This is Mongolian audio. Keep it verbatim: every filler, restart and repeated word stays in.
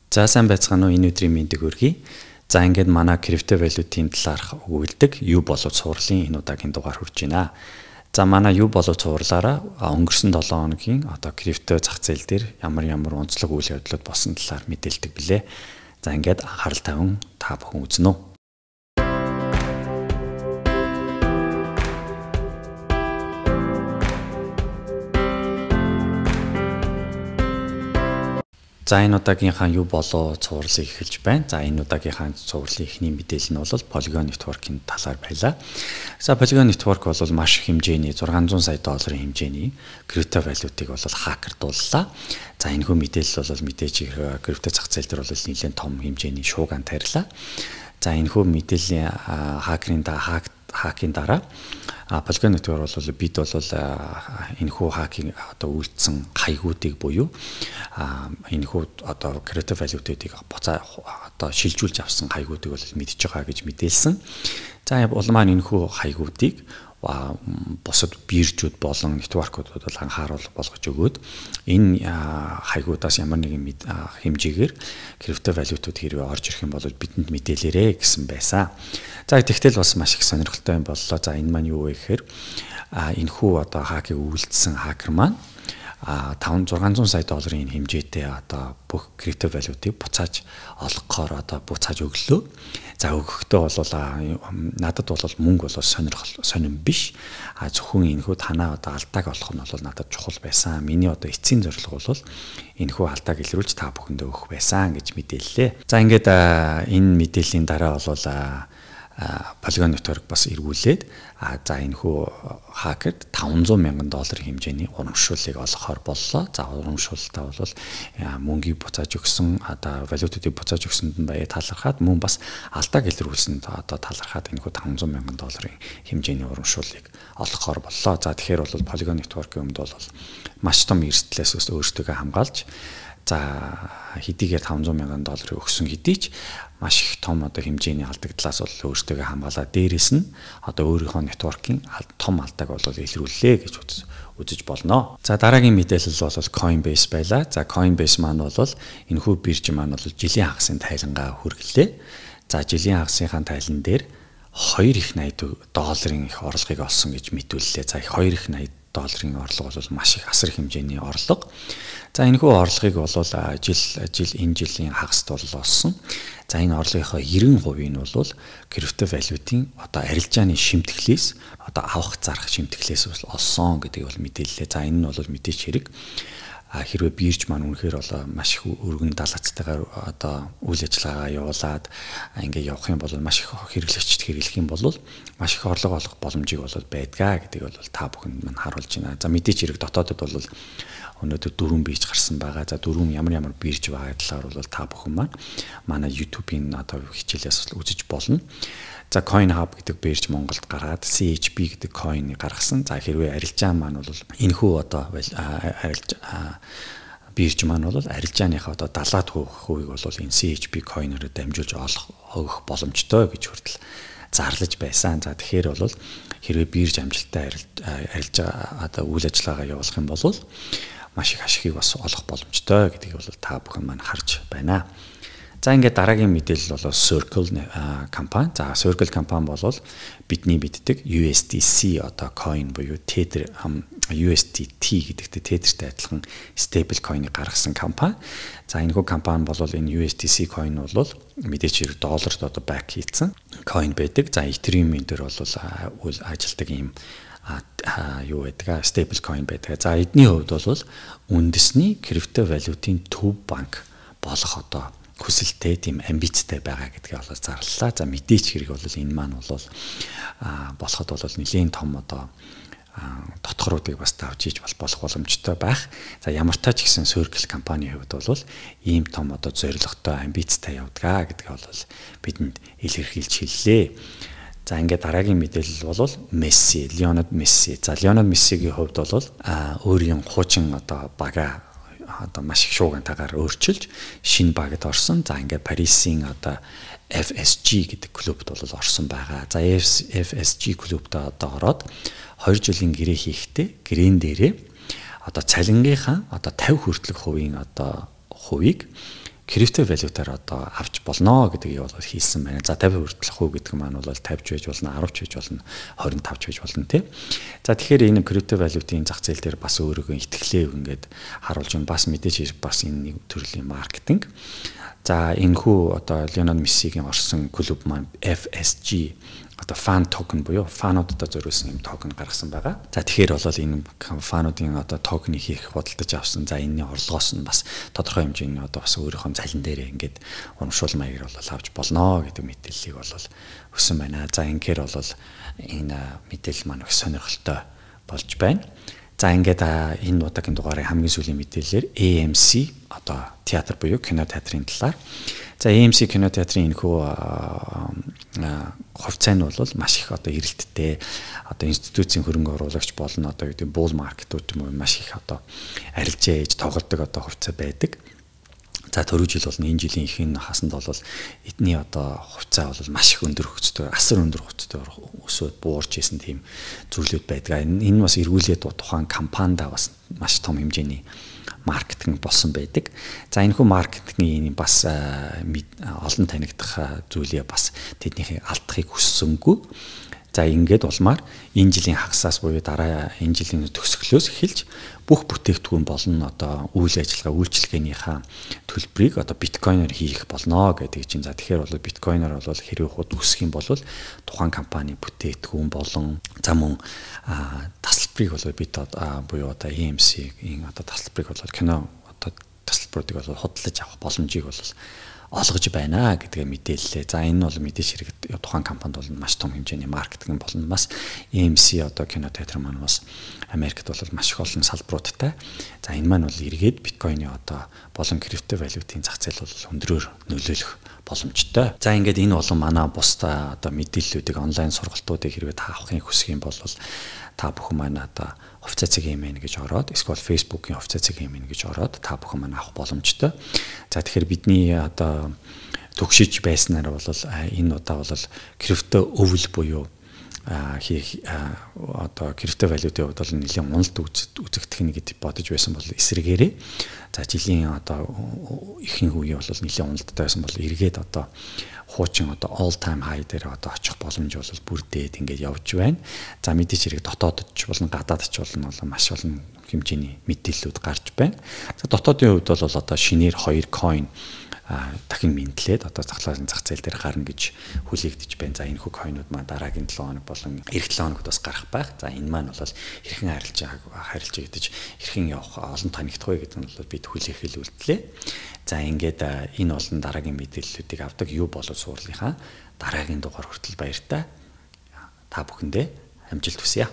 За сайн байцгаана уу, энэ өдрийн мэндийг хүргэе. За ингээд манай крипто валютын талаарх өгүүлдэг юу болов цувралын энэ удаагийн дугаар хүрж байна. За манай юу болов цувралаараа өнгөрсөн долоон хоногийн одоо крипто зах зээл дээр ямар ямар онцлог үйл явдлууд болсон талаар мэдээлдэг билээ. За ингээд анхаарал тавин та бүхэн үзнэ үү. За энэ удаагийнхаа юу болоо цувралыг эхэлж байна. За энэ удаагийнхаа цувралын эхний мэдээлэл нь бол Polygon Network-ийн талаар байлаа. За Polygon Network бол маш их хэмжээний зургаан зуун сая долларын хэмжээний крипто валютыг бол хакердууллаа. За энэ хүү мэдээлэл бол мэдээж крипто зах зээл дээр бол нэлээд том хэмжээний шууган тарилаа. За энэ хүү мэдээллийн хакерын хакийн дараа Polygon Network бол бид бол энэ хүү хакинг одоо үйлдсэн хаягуудыг буюу энэ хүү одоо крипто валютуудыг буцаа одоо шилжүүлж авсан хаягуудыг бол мэдж байгаа гэж мэдээлсэн. За улмаа энэ хүү хаягуудыг бусад биржүүд болон нэтворкуудад бол анхааруул болгож өгөөд энэ хаягуудаас ямар нэгэн хэмжээгээр крипто валютууд хэрвээ орж ирэх юм бол бидэнд мэдээлээрэ гэсэн байсан. За тэгтэл бас маш их сонирхолтой юм боллоо. За энэ маань юу вэ гэхээр энэ хүү одоо хакийг үйлдсэн хакер маань таван зургаан зуун сая долларын хэмжээтэй одоо бүх крипто валютыг буцааж олгохоор одоо буцааж өглөө. За өгөхдөө бол надад бол мөнгө бол сонирхол сонирн биш. А зөвхөн энэ хүү танаа одоо алдааг олох нь бол надад чухал байсан. Миний одоо эцсийн зорилго бол энэ хүү алдааг илрүүлж та бүхэндээ өгөх байсан гэж мэдээллээ. За ингээд энэ мэдээллийн дараа бол Polygon Network бас эргүүлээд за энэ хүү хакерд таван зуун мянган долларын хэмжээний урамшууллыг олгохоор боллоо. За урамшуулалтаа бол мөнгийг буцааж өгсөн одоо валютуудыг буцааж өгсөнд нь баяа талархаад мөн бас алдааг илрүүлсэнд одоо талархаад энэ хүү таван зуун мянган долларын хэмжээний урамшууллыг олгохоор боллоо. За тэгэхээр бол Polygon Network-ийн өмд бол маш том эрсдлээс өөрсдөө хамгаалж за хэдийгээр таван зуун мянган долларыг өгсөн хэдий ч маш их том одоо хэмжээний алдагдлаас бол өөрсдөө хамгаалаад дээрэс нь одоо өөрийнхөө нэтворкийн том алдааг бол илрүүллээ гэж үзэж болно. За дараагийн мэдээлэл бол Coinbase байлаа. За Coinbase маань бол энэ хүү бирж маань бол жилийн хагасын тайлангаа хүргэлээ. За жилийн хагасынхаа тайлан дээр хоёр их найдаа долларын их орлогыг олсон гэж мэдүүллээ. За хоёр их найдаа долларын орлого бол маш их асар хэмжээний орлого. За энэ хүү орлогыг бол жил жил энэ жилийн хагаст бол олсон. За энэ орлогынхоо нব্бэ хувийг нь бол крипто валютын одоо арилжааны шимтгэлээс одоо авах зарах шимтгэлээс бол олсон гэдэг бол мэдээллээ. За энэ нь бол мэдээч хэрэг. Хэрвээ бирж маань үнэхээр бол маш их өргөн далацтайгаар одоо үйл ажиллагаагаа явуулаад ингээд явах юм бол маш их хэрэглэгчд хэрэглэх юм бол маш их орлого олох боломжийг бол байдгаа гэдэг бол та бүхэнд маань харуулж байна. За мэдээч хэрэг дотоодод бол өнөөдөр дөрвөн бирж гарсан байгаа. За дөрвөн ямар ямар бирж байгаа талаар бол та бүхэн маань манай YouTube-ийн одоо хичээлээс үзэж болно. За CoinHub гэдэг бирж Монголд гараад си эйч пи гэдэг coin гаргасан. За хэрвээ арилжаа маань бол энэ хүү одоо арилж бирж маань бол арилжааныхаа одоо далаад хувийг бол энэ си эйч пи coin-ороо дамжуулж олох өгөх боломжтой гэж хүртэл зарлаж байсан. За тэгэхээр бол хэрвээ бирж амжилттай арилжаа одоо үйл ажиллагаагаа явуулах юм бол маш их ашигыг бас олох боломжтой гэдгийг бол та бүхэн маань харж байна. За ингээд дараагийн мэдээлэл бол Circle компани. За Circle компани бол бидний мэддэг ю эс ди си одоо coin буюу Tether ю эс ди ти гэдэгтэй Tether-тэй адилхан stable coin-ыг гаргасан компани. За энэ хүү компани бол энэ ю эс ди си coin бол мэдээч хэрэг долларт одоо back хийцэн coin байдаг. За Ethereum-ийн дээр бол ажилтдаг юм юу байдаг stable coin байдаг. За эдний хувьд бол үндэсний крипто валютын төв банк болох одоо хүсэлтэй тийм амбицтай байгаа гэдгийг бол зарлалаа. За мэдээч хэрэг бол энэ маань бол болоход бол нэлийн том одоо дотгоруудыг бас давж ийж болох боломжтой байх. За ямар тач гэсэн Circle компани хувьд бол ийм том одоо зорилготой амбицтай явдгаа гэдгийг бол бидэнд илэрхийлж хэллээ. За ингээд дараагийн мэдээлэл бол Messi, Lionel Messi. За Lionel Messi-гийн хувьд бол өөрийн хуучин одоо бага одоо маш их шуугантайгаар өөрчилж шинэ багт орсон. За ингээд Парисын одоо эф эс жи гэдэг клубт бол орсон байгаа. За эф эс жи клубт одоо ороод хоёр жилийн гэрээ хийхдээ гэрэн дээрээ одоо цалингийнхаа одоо тавь хүртэлх хувийн одоо хувийг крипто валютаар одоо авч болно гэдгийг бол хийсэн байна. За тавь хүртэлх үү гэдэг маань бол тавьж байж болно, арвч байж болно, хорин тавьж байж болно тий. За тэгэхээр энэ крипто валютын зах зээл дээр бас өөрийгөө итгэлээ ингээд харуулж байна. Бас мэдээж бас энэ нэг төрлийн маркетинг. За энэхүү одоо Леонард Мессигийн орсон клуб маань эф эс джи одоо фан токен буюу фануудад зориулсан юм токен гаргасан байгаа. За тэгэхээр бол энэ фануудын одоо токенийг хийх бодолдож авсан. За энэний орлогоос нь бас тодорхой хэмжээний одоо бас өөрийнхөө залин дээр ингээд урамшуул маягаар бол авч болно гэдэг мэдээллийг бол өгсөн байна. За ингээр бол энэ мэдээлэл маань их сонирхолтой болж байна. За ингээд энэ удаагийн дугаарыг хамгийн сүүлийн мэдээлэлээр эй эм си одоо театр буюу кино театрын талаар. За эй эм си кино театрын энэхүү хувьцаа нь бол маш их одоо эрэлттэй одоо институцийн хөрөнгө оруулагч болно одоо гэдэг буул маркетууд юм уу маш их одоо арилжаа ээж тоглодог одоо хувьцаа байдаг. За түрүү жил бол энэ жилийн ихэнх хасанд бол эдний одоо хувьцаа бол маш их өндөр хөгждөг, асар өндөр хөгждөг өсөд буурч исэн тийм зүйлүүд байдаг. Энэ бас эргүүлээд тухайн компанида бас маш том хэмжээний маркетинг болсон байдаг. За энэхүү маркетингийн бас олон танигдах зүйлээ бас тэднийхээ алдахыг хүссэнгүй. За ингээд улмаар энэ жилийн хагасаас буюу дараа энэ жилийн төгсгөлөөс эхэлж бүх бүтээгдэхүүн болон одоо үйл ажиллагаа үйлчилгээнийхээ төлбөрийг одоо биткойноор хийх болно гэдэг чинь. За тэгэхээр бол биткойноор бол хэрвээ хууд үсэх юм бол тухайн компани бүтээгдэхүүн болон за мөн тасалбарыг бол бид буюу одоо эй эм си-ийн одоо тасалбарыг бол кино одоо тасалбаруудыг бол худалдаж авах боломжийг бол олгож байна гэдгээ мэдээллээ. За энэ бол мэдээж хэрэг тухайн компанид бол маш том хэмжээний маркетинг болно. Бас эй эм си одоо кино театр маань бас Америкт бол маш их олон салбаруудтай. За энэ маань бол эргээд биткойны одоо болон крипто валютын зах зээл бол өндрөөр нөлөөлөх боломжтой. За ингээд энэ болон манай бусдаа одоо мэдээллүүдийг онлайн сургалтуудыг хэрвээ та авахыг хүсэх юм бол та бүхэн маань одоо хувьцаа цэг эмэн гэж ороод эсвэл Facebook-ийн хувьцаа цэг эмэн гэж ороод та бүхэн маань авах боломжтой. За тэгэхээр бидний одоо төгшиж байснаар бол энэ удаа бол крипто өвөл буюу хийх одоо крипто валютын хувьд бол нэлийн уналт үзэх техник гэж бодож байсан бол эсрэгээрээ за жилийн одоо ихэнх үе бол нэлийн уналттай байсан бол эргээд одоо хуучин одоо all time high дээр одоо очих боломж бол бүрдээд ингээд явж байна. За мэдээж хэрэг дотоодч болон гадаадч болон маш олон хэмжээний мэдээллүүд гарч байна. За дотоодын хувьд бол одоо шинээр хоёр coin дахин мэдлээд одоо захлаалын зах зээл дээр гарна гэж хүлээгдэж байна. За энэ хүү койнууд маань дараагийн долоо хоног болон эх долоо хоногт бас гарах байх. За энэ маань бол хэрхэн харилцаа харилцаа гэдэж хэрхэн явах олон танигдах вэ гэдэг нь бол бид хүлээх хэлүүлтлээ. За ингээд энэ болон дараагийн мэдээллүүдийг авдаг юу болов суурлынхаа дараагийн дугаар хүртэл баяртай. Та бүхэндээ амжилт хүсье.